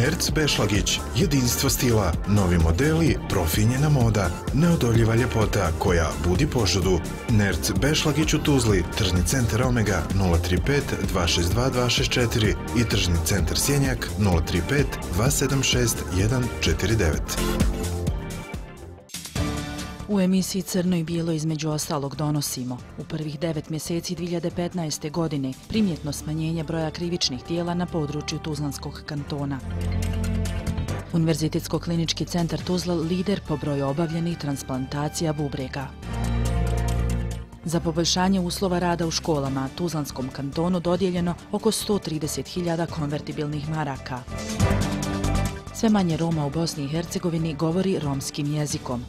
Nerz Bešlagić, jedinstvo stila, novi modeli, profinjena moda, neodoljiva ljepota koja budi požudu. Nerz Bešlagić u Tuzli, tržni centar Omega 035 262 264 i tržni centar Sjenjak 035 276 149. U emisiji Crno i bijelo između ostalog donosimo u prvih 9 mjeseci 2015. godine primjetno smanjenje broja krivičnih djela na području Tuzlanskog kantona. Univerzitetsko-klinički centar Tuzla lider po broju obavljenih transplantacija bubrega. Za poboljšanje uslova rada u školama Tuzlanskom kantonu dodijeljeno oko 130.000 konvertibilnih maraka. Sve manje Roma u Bosni i Hercegovini govori romskim jezikom.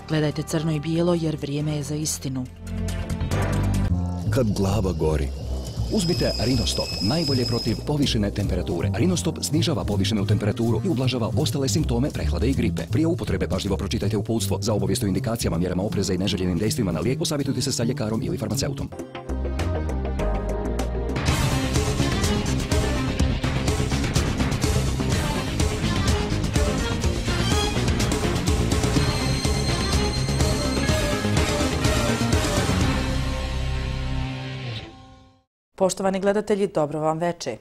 Gledajte Crno i bijelo jer vrijeme je za istinu. Kad glava gori, uzmite Rinostop, najbolje protiv povišene temperature. Rinostop snižava povišenu temperaturu i ublažava ostale simptome prehlade i gripe. Prije upotrebe pažljivo pročitajte uputstvo. Za obavijest o indikacijama, mjerama opreza i neželjenim dejstvima na lijek posavjetujte se sa ljekarom ili farmaceutom. Poštovani gledatelji, dobro vam veče.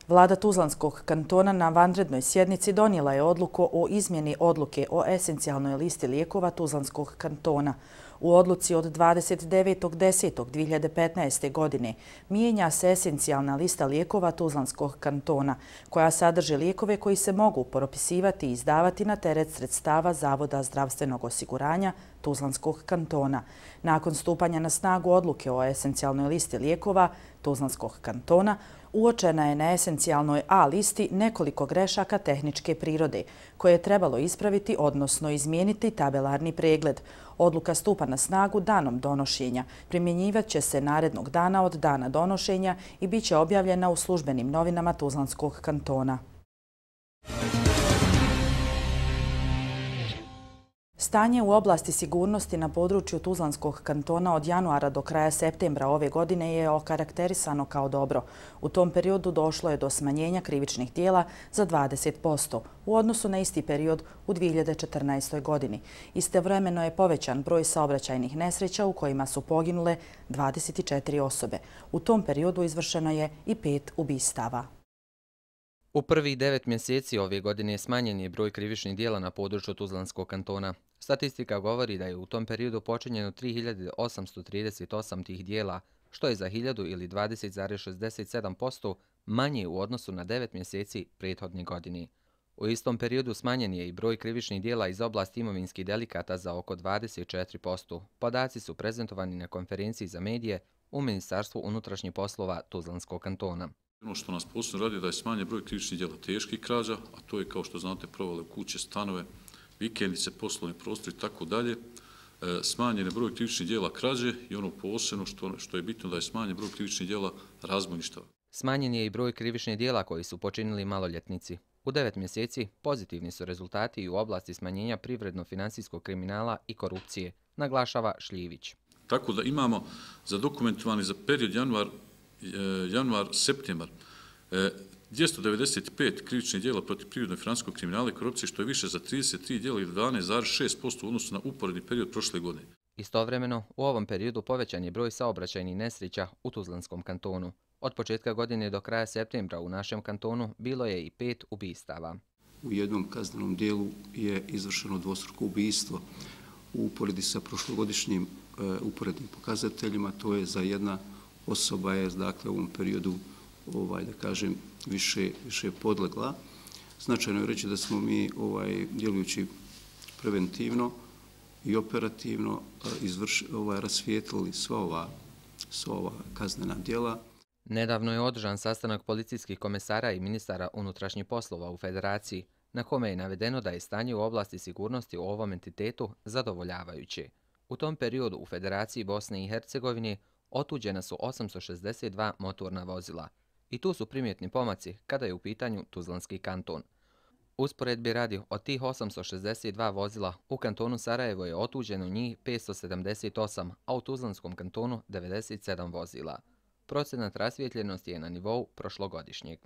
Vlada Tuzlanskog kantona na vanrednoj sjednici donijela je odluku o izmjeni odluke o esencijalnoj listi lijekova Tuzlanskog kantona. U odluci od 29.10.2015. godine mijenja se esencijalna lista lijekova Tuzlanskog kantona, koja sadrži lijekove koji se mogu propisivati i izdavati na teret sredstava Zavoda zdravstvenog osiguranja Tuzlanskog kantona. Nakon stupanja na snagu odluke o esencijalnoj listi lijekova Tuzlanskog kantona, uočena je na esencijalnoj A listi nekoliko grešaka tehničke prirode, koje je trebalo ispraviti, odnosno izmijeniti tabelarni pregled. Odluka stupa na snagu danom donošenja. Primjenjivat će se narednog dana od dana donošenja i bit će objavljena u službenim novinama Tuzlanskog kantona. Stanje u oblasti sigurnosti na području Tuzlanskog kantona od januara do kraja septembra ove godine je okarakterisano kao dobro. U tom periodu došlo je do smanjenja krivičnih djela za 20% u odnosu na isti period u 2014. godini. Istovremeno je povećan broj saobraćajnih nesreća u kojima su poginule 24 osobe. U tom periodu izvršeno je i 5 ubistava. U prvih 9 mjeseci ove godine smanjen je broj krivičnih djela na području Tuzlanskog kantona. Statistika govori da je u tom periodu počinjeno 3838 tih djela, što je za 1000 ili 20,67% manje u odnosu na 9 mjeseci prethodne godine. U istom periodu smanjen je i broj krivičnih djela iz oblasti imovinskih delikata za oko 24%. Podaci su prezentovani na konferenciji za medije u Ministarstvu unutrašnjih poslova Tuzlanskog kantona. Ono što nas posebno radi da je smanjen broj krivičnih djela teških krađa, a to je, kao što znate, provale u kuće, stanove, vikendice, poslovni prostor i tako dalje. Smanjen je broj krivičnih djela krađe i ono posebno što je bitno da je smanjen broj krivičnih djela razbojništava. Smanjen je i broj krivičnih djela koji su počinili maloljetnici. U 9 mjeseci pozitivni su rezultati i u oblasti smanjenja privredno-financijskog kriminala i korupcije, naglašava Šljivić. Tako da imamo zadokumentovani za period januar-septembar 295 krivičnih djela protiv privredno-financijskog kriminala i korupcije, što je više za 33 djela ili 12,6% u odnosu na uporedni period prošle godine. Istovremeno, u ovom periodu povećan je broj saobraćajnih nesreća u Tuzlanskom kantonu. Od početka godine do kraja septembra u našem kantonu bilo je i 5 ubistava. U jednom kaznenom dijelu je izvršeno dvostruko ubistvo. U uporedi sa prošlogodišnjim uporednim pokazateljima, to je za jedna osoba je, dakle, u ovom periodu, da kažem, više podlegla. Značajno je reći da smo mi, djelujući preventivno i operativno, rasvijetlili sva ova kaznena djela. Nedavno je održan sastanak policijskih komesara i ministara unutrašnjih poslova u Federaciji, na kome je navedeno da je stanje u oblasti sigurnosti u ovom entitetu zadovoljavajuće. U tom periodu u Federaciji Bosne i Hercegovine otuđena su 862 motorna vozila. I tu su primjetni pomaci kada je u pitanju Tuzlanski kanton. Usporedbi radi, od tih 862 vozila u kantonu Sarajevo je otuđeno njih 578, a u Tuzlanskom kantonu 97 vozila. Procenat rasvijetljenosti je na nivou prošlogodišnjeg.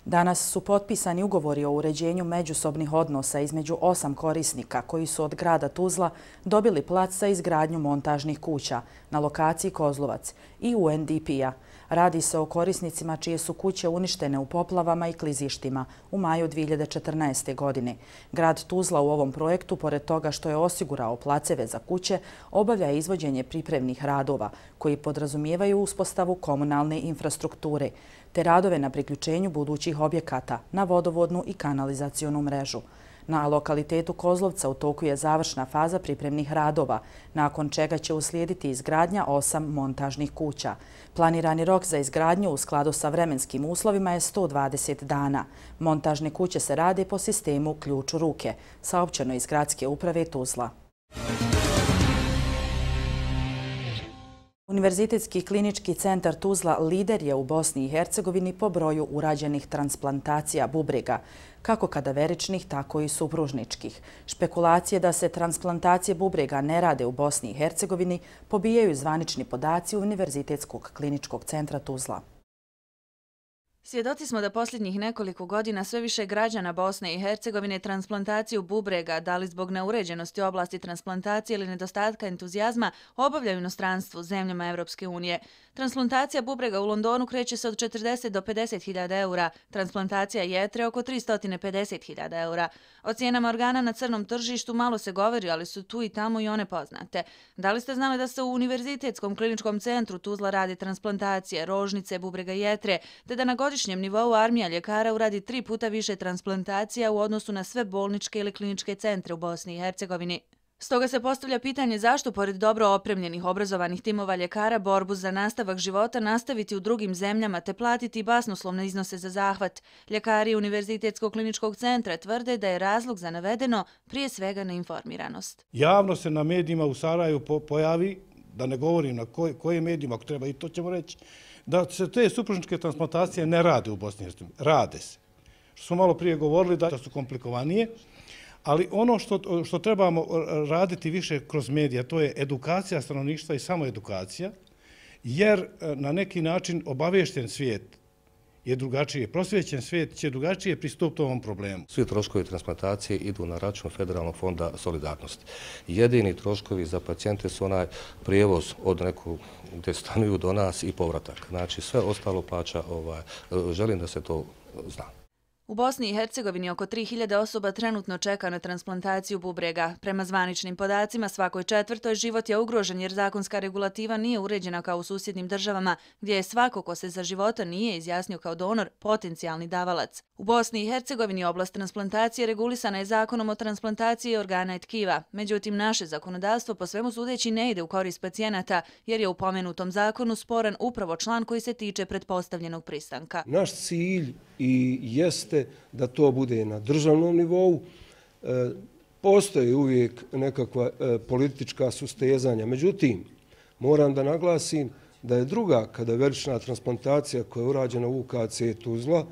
Danas su potpisani ugovori o uređenju međusobnih odnosa između 8 korisnika koji su od grada Tuzla dobili plac za izgradnju montažnih kuća na lokaciji Kozlovac i UNDP-a. Radi se o korisnicima čije su kuće uništene u poplavama i klizištima u maju 2014. godine. Grad Tuzla u ovom projektu, pored toga što je osigurao placeve za kuće, obavlja izvođenje pripremnih radova koji podrazumijevaju uspostavu komunalne infrastrukture te radove na priključenju budućih objekata na vodovodnu i kanalizacionu mrežu. Na lokalitetu Kozlovca u toku je završna faza pripremnih radova, nakon čega će uslijediti izgradnja 8 montažnih kuća. Planirani rok za izgradnju u skladu sa vremenskim uslovima je 120 dana. Montažne kuće se rade po sistemu ključ u ruke, saopćeno iz Gradske uprave Tuzla. Univerzitetski klinički centar Tuzla lider je u Bosni i Hercegovini po broju urađenih transplantacija bubrega, kako kadaveričnih, tako i supružničkih. Špekulacije da se transplantacije bubrega ne rade u Bosni i Hercegovini pobijaju zvanični podaci Univerzitetskog kliničkog centra Tuzla. Svjedoci smo da posljednjih nekoliko godina sve više građana Bosne i Hercegovine transplantaciju bubrega, da li zbog neuređenosti oblasti transplantacije ili nedostatka entuzijazma, obavljaju u inostranstvu, zemljama Evropske unije. Transplantacija bubrega u Londonu kreće se od 40 do 50.000 eura, transplantacija jetre oko 350.000 eura. O cijenama organa na crnom tržištu malo se govori, ali su tu i tamo i one poznate. Da li ste znali da se u Univerzitetskom kliničkom centru Tuzla radi transplantacije, rožnice, bubrega jetre, te da na godišnjem nivou armija ljekara uradi 3 puta više transplantacija u odnosu na sve bolničke ili kliničke centre u Bosni i Hercegovini? Stoga se postavlja pitanje zašto, pored dobro opremljenih obrazovanih timova ljekara, borbu za nastavak života nastaviti u drugim zemljama te platiti basnoslovne iznose za zahvat. Ljekari Univerzitetskog kliničkog centra tvrde da je razlog za navedeno prije svega neinformiranost. Javno se na medijima u Sarajevu pojavi, da ne govorim na kojim medijima, ako treba i to ćemo reći, da se te supružničke transplantacije ne rade u Bosni i Hercegovini. Rade se. Što smo malo prije govorili da su komplikovanije, ali ono što trebamo raditi više kroz medija, to je edukacija stanovništva i samoedukacija, jer na neki način obaviješten svijet je drugačije. Prosvjećen svijet će drugačije pristupiti ovom problemu. Svi troškovi transplantacije idu na račun Federalnog fonda solidarnosti. Jedini troškovi za pacijente su onaj prijevoz od nekog gdje stanuju do nas i povratak. Znači sve ostalo plaća, želim da se to zna. U Bosni i Hercegovini oko 3000 osoba trenutno čeka na transplantaciju bubrega. Prema zvaničnim podacima, svakoj četvrtoj život je ugrožen jer zakonska regulativa nije uređena kao u susjednim državama, gdje je svako ko se za života nije izjasnio kao donor potencijalni davalac. U Bosni i Hercegovini oblast transplantacije regulisana je zakonom o transplantaciji organa i tkiva. Međutim, naše zakonodavstvo po svemu sudeći ne ide u korist pacijenata, jer je u pomenutom zakonu sporan upravo član koji se tiče pretpostavljenog pristanka. Naš cilj i jeste da to bude na državnom nivou. Postoji uvijek nekakva politička sustezanja. Međutim, moram da naglasim da je druga kadaverična transplantacija koja je urađena u UKC Tuzla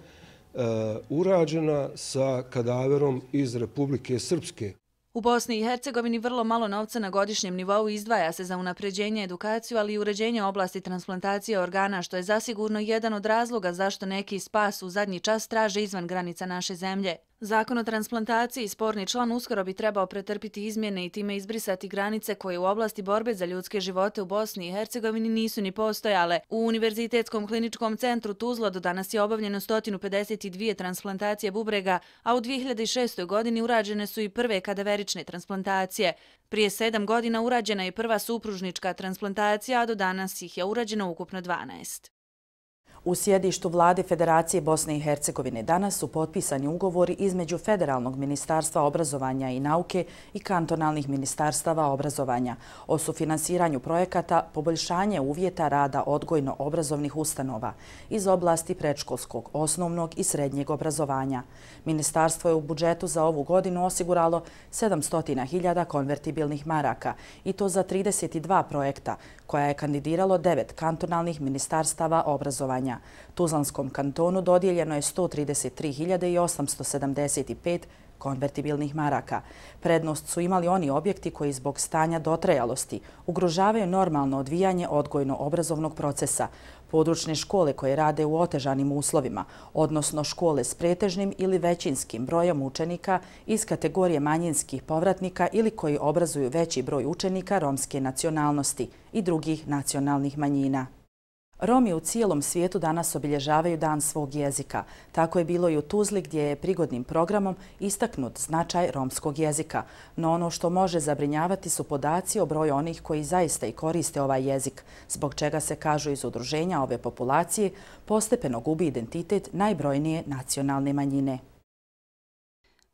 urađena sa kadaverom iz Republike Srpske. U Bosni i Hercegovini vrlo malo novca na godišnjem nivou izdvaja se za unapređenje edukaciju, ali i uređenje oblasti transplantacije organa, što je zasigurno jedan od razloga zašto neki spas u zadnji čas traže izvan granica naše zemlje. Zakon o transplantaciji, sporni član, uskoro bi trebao pretrpiti izmjene i time izbrisati granice koje u oblasti borbe za ljudske živote u Bosni i Hercegovini nisu ni postojale. U Univerzitetskom kliničkom centru Tuzla do danas je obavljeno 152 transplantacije bubrega, a u 2006. godini urađene su i prve kadaverične transplantacije. Prije 7 godina urađena je prva supružnička transplantacija, a do danas ih je urađeno ukupno 12. U sjedištu Vlade Federacije Bosne i Hercegovine danas su potpisani ugovori između Federalnog ministarstva obrazovanja i nauke i kantonalnih ministarstava obrazovanja o sufinansiranju projekata poboljšanje uvjeta rada odgojno-obrazovnih ustanova iz oblasti predškolskog, osnovnog i srednjeg obrazovanja. Ministarstvo je u budžetu za ovu godinu osiguralo 700.000 konvertibilnih maraka i to za 32 projekta koja je kandidiralo 9 kantonalnih ministarstava obrazovanja. Tuzlanskom kantonu dodijeljeno je 133.875 konvertibilnih maraka. Prednost su imali oni objekti koji zbog stanja dotrajalosti ugrožavaju normalno odvijanje odgojno-obrazovnog procesa, područne škole koje rade u otežanim uslovima, odnosno škole s pretežnim ili većinskim brojem učenika iz kategorije manjinskih povratnika ili koji obrazuju veći broj učenika romske nacionalnosti i drugih nacionalnih manjina. Romi u cijelom svijetu danas obilježavaju Dan svog jezika. Tako je bilo i u Tuzli gdje je prigodnim programom istaknut značaj romskog jezika. No ono što može zabrinjavati su podaci o broju onih koji zaista i koriste ovaj jezik, zbog čega se, kažu iz udruženja ove populacije, postepeno gubi identitet najbrojnije nacionalne manjine.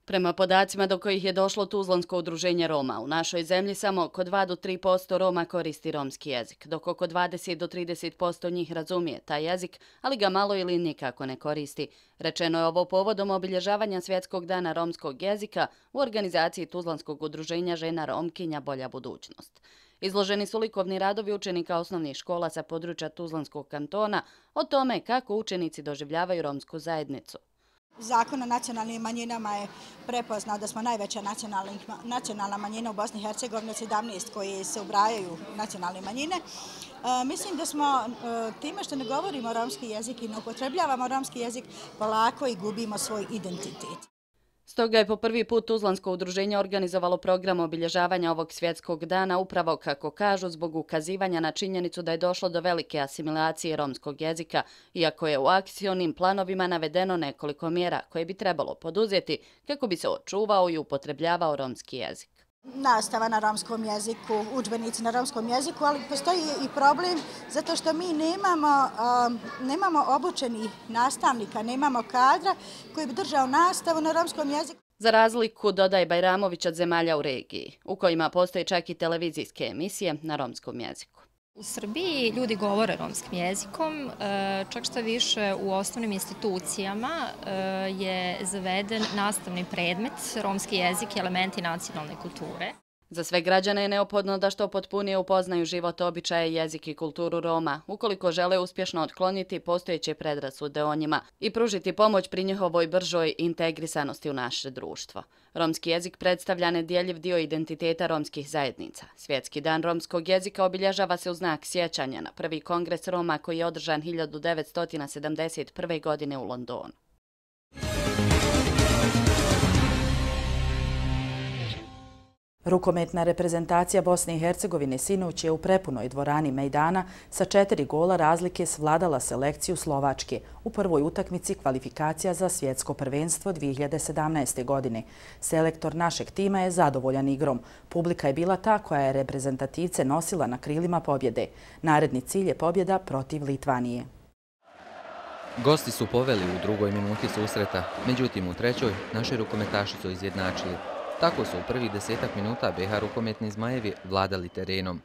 Prema podacima do kojih je došlo Tuzlansko udruženje Roma, u našoj zemlji samo oko 2 do 3% Roma koristi romski jezik, dok oko 20 do 30% njih razumije taj jezik, ali ga malo ili nikako ne koristi. Rečeno je ovo povodom obilježavanja Svjetskog dana romskog jezika u organizaciji Tuzlanskog udruženja žena Romkinja Bolja budućnost. Izloženi su likovni radovi učenika osnovnih škola sa područja Tuzlanskog kantona o tome kako učenici doživljavaju romsku zajednicu. Zakon o nacionalnim manjinama je prepoznao da smo najveća nacionalna manjina u Bosni i Hercegovini od 17 koji se ubrajaju nacionalne manjine. Mislim da smo time što ne govorimo romski jezik i ne upotrebljavamo romski jezik polako i gubimo svoj identitet. Stoga je po prvi put Tuzlansko udruženje organizovalo program obilježavanja ovog svjetskog dana upravo, kako kažu, zbog ukazivanja na činjenicu da je došlo do velike asimilacije romskog jezika, iako je u akcionim planovima navedeno nekoliko mjera koje bi trebalo poduzeti kako bi se očuvao i upotrebljavao romski jezik. Nastava na romskom jeziku, udžbenici na romskom jeziku, ali postoji i problem zato što mi nemamo obučenih nastavnika, nemamo kadra koji bi držao nastavu na romskom jeziku. Za razliku, dodaje Bajramović, od zemalja u regiji, u kojima postoje čak i televizijske emisije na romskom jeziku. U Srbiji ljudi govore romskim jezikom, čak što više u osnovnim institucijama je zaveden nastavni predmet romski jezik i elementi nacionalne kulture. Za sve građane je neophodno da što potpunije upoznaju život, običaje, jezik i kulturu Roma, ukoliko žele uspješno otkloniti postojeće predrasude o njima i pružiti pomoć pri njihovoj bržoj integrisanosti u naše društvo. Romski jezik predstavlja nedjeljiv dio identiteta romskih zajednica. Svjetski dan romskog jezika obilježava se u znak sjećanja na prvi kongres Roma koji je održan 1971. godine u Londonu. Rukometna reprezentacija Bosne i Hercegovine sinoć je u prepunoj dvorani Mejdana sa 4 gola razlike svladala selekciju Slovačke u prvoj utakmici kvalifikacija za svjetsko prvenstvo 2017. godine. Selektor našeg tima je zadovoljan igrom. Publika je bila ta koja je reprezentativce nosila na krilima pobjede. Naredni cilj je pobjeda protiv Litvanije. Gosti su poveli u drugoj minuti susreta, međutim u trećoj naši rukometaši su izjednačili. Tako su u prvih 10 minuta BiH rukometni Zmajevi vladali terenom.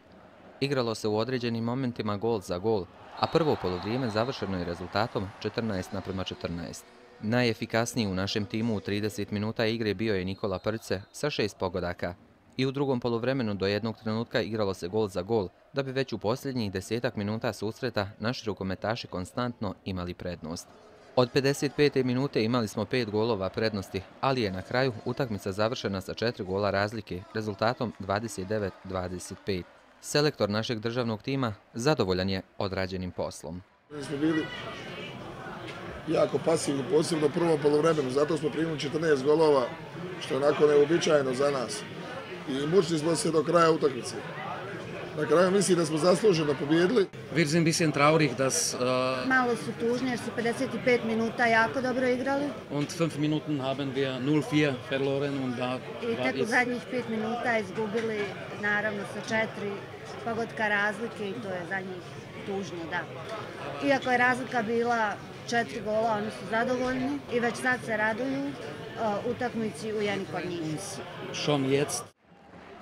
Igralo se u određenim momentima gol za gol, a prvo polovrijeme završeno je rezultatom 14:14. Najefikasniji u našem timu u 30 minuta igre bio je Nikola Prce sa 6 pogodaka. I u drugom poluvremenu do jednog trenutka igralo se gol za gol, da bi već u posljednjih 10 minuta susreta naši rukometaši konstantno imali prednost. Od 55. minute imali smo 5 golova prednosti, ali je na kraju utakmica završena sa 4 gola razlike, rezultatom 29-25. Selektor našeg državnog tima zadovoljan je odrađenim poslom. Mi smo bili jako pasivni, posebno u prvom poluvremenu, zato smo primili 14 golova, što je onako neobičajeno za nas. I mučili smo se do kraja utakmice. Na kraju mislim da smo zasluženo pobjedili. Wir sind ein bisschen traurig, dass malo su tužni jer su 55 minuta jako dobro igrali. Und 5 Minuten haben wir 0-4 verloren und da i tek u zadnjih 5 minuta izgubili, naravno sa 4 pogotka razlike i to je za njih tužno, da. Iako je razlika bila 4 gola, oni su zadovoljni i već sad se raduju utakmici u jedni kod njih. Schon jetzt.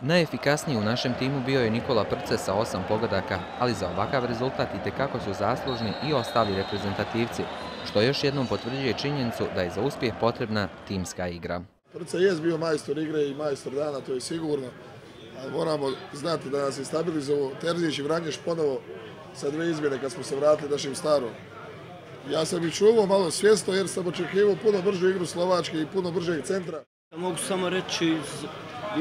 Najefikasniji u našem timu bio je Nikola Prce sa 8 pogodaka, ali za ovakav rezultat itekako su zaslužni i ostali reprezentativci, što još jednom potvrđuje činjenicu da je za uspjeh potrebna timska igra. Prce je bio majstor igre i majstor dana, to je sigurno, ali moramo znati da nas je stabilizovao Terzić i Vranješ ponovo sa 2 izmjene kad smo se vratili našim starom. Ja sam i čuvao malo svjesno jer sam očekivao puno bržu igru Slovačke i puno bržeg centra. Mogu samo reći iz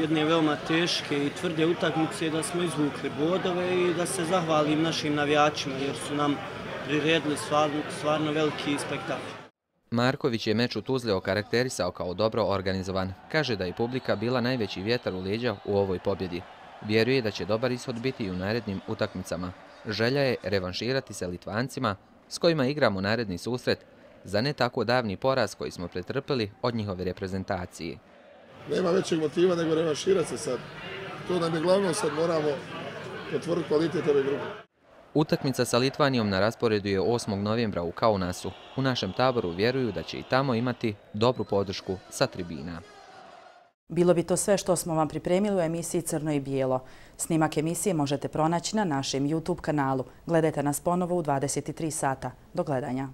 jedne veoma teške i tvrde utakmice da smo izvukli bodove i da se zahvalim našim navijačima jer su nam priredili stvarno veliki spektakl. Marković je meč u Tuzli okarakterisao kao dobro organizovan. Kaže da je publika bila najveći vjetar u leđa u ovoj pobjedi. Vjeruje da će dobar ishod biti i u narednim utakmicama. Želja je revanširati se Litvancima s kojima igramo naredni susret za ne tako davni poraz koji smo pretrpili od njihove reprezentacije. Nema većeg motiva nego revanširati se sad. To nam je glavno, sad moramo potvrditi kvalitet ove grupe. Utakmica sa Litvanijom na rasporedu je 8. novembra u Kaunasu. U našem taboru vjeruju da će i tamo imati dobru podršku sa tribina. Bilo bi to sve što smo vam pripremili u emisiji Crno i bijelo. Snimak emisije možete pronaći na našem YouTube kanalu. Gledajte nas ponovo u 23 sata. Do gledanja.